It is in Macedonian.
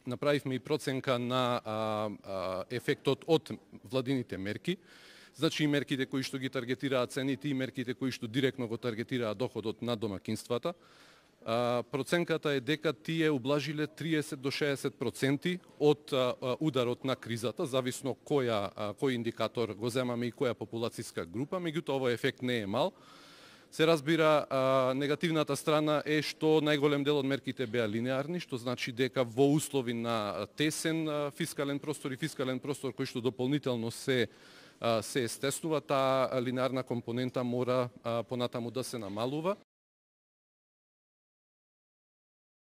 направивме и проценка на ефектот од владините мерки. Значи и мерките кои што ги таргетираат цените и мерките кои што директно го таргетираат доходот на домакинствата. Проценката е дека тие ублажиле 30 до 60% од ударот на кризата, зависно кој индикатор го земаме и која популацијска група, меѓутоа овој ефект не е мал. Се разбира, негативната страна е што најголем дел од мерките беа линеарни, што значи дека во услови на тесен фискален простор и фискален простор кој што дополнително се стеснува, таа линеарна компонента мора понатаму да се намалува.